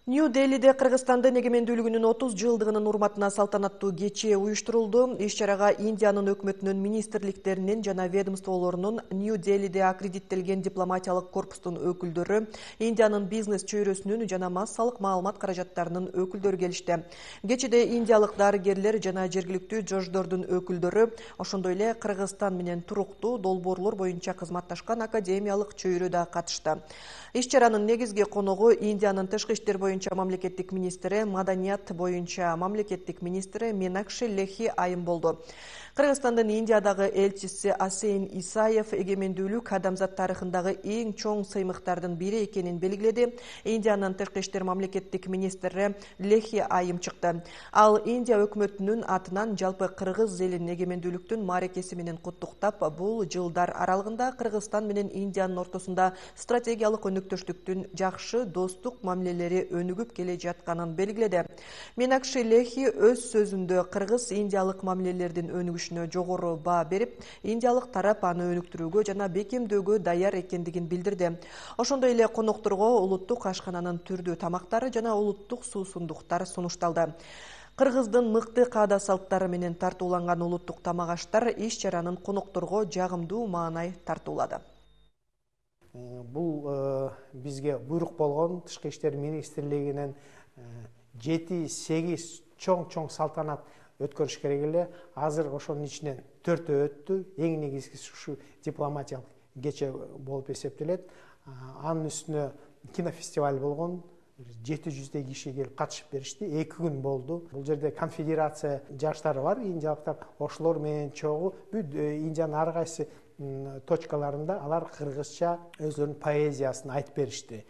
Нью-Делиде Кыргызстандын эгемендүүлүгүнүн 30 жылдыгынын урматына салтанаттуу кече уюштурулду. Иш-чарага Индиянын өкмөтүнүн министрликтеринин жана ведомстволорунун, Нью-Делиде аккредиттелген дипломатиялык корпустун өкүлдөрү, Индиянын бизнес чөйрөсүнүн жана массалык маалымат каражаттарынын өкүлдөрү келишти. Кечеде индиялык дарыгерлер жана жергиликтүү жождордун өкүлдөрү, ошондой эле Кыргызстан менен туруктуу долбоорлор боюнча кызматташкан академиялык чөйрө да катышты. Иш-чаранын негизги коногу Индиянын тышкы иштер боюнча мамлекеттик министри, маданият боюнча мамлекеттик министри Минакши Лехи Айым болду. Кыргызстандын Индиядагы элчиси Асейн Исаев эгемендүүлүк адамзат тарыхындагы эң чоң сыймыктардын бири экенин белгиледи. Индиянын тышкы иштер мамлекеттик министри Лехи Айым чыкты. Ал Индия өкмөтүнүн атынан жалпы кыргыз элин эгемендүүлүктүн мааракеси менен куттуктап, бул жылдар аралыгында Кыргызстан менен Индиянын ортосунда стратегиялык өнөктөштүктүн жакшы достук мамилелери өнүгүп келе жатканын белгиледи. Минакши Лехи өз сөзүндө кыргыз-индиялык мамилелердин өнүгүшүнө жогору баа берип, индиялык тарап аны өнүктүрүүгө жана бекемдөөгө даяр экендигин билдирди. Ошондой эле конокторго улуттук ашкананын түрдүү тамактары жана улуттук суусундуктар сунушталды. Кыргыздын мыкты каада салттары менен тартууланган улуттук тамак-аштар иш-чаранын конокторго жагымдуу маанай тартуулады. Бул бизге буйрук болгон Тышкы иштер министрлигинен 7-8 чоң салтанат өткөрүш керек эле. Азыр ошонун ичинен 4 өттү. Эң негизгиси ушу дипломатиялык кече болуп эсептелет. Анын үстүнө кинофестиваль болгон. 700 киши келип катышып беришти. 2 күн болду. Бул жерде конфедерация жаштары бар, индиялыктар. Ошолор менен чогуу бүт Индиянын ар кайсы точкаларында алар кыргызча өзлөрүнүн поэзиясын айтып беришти.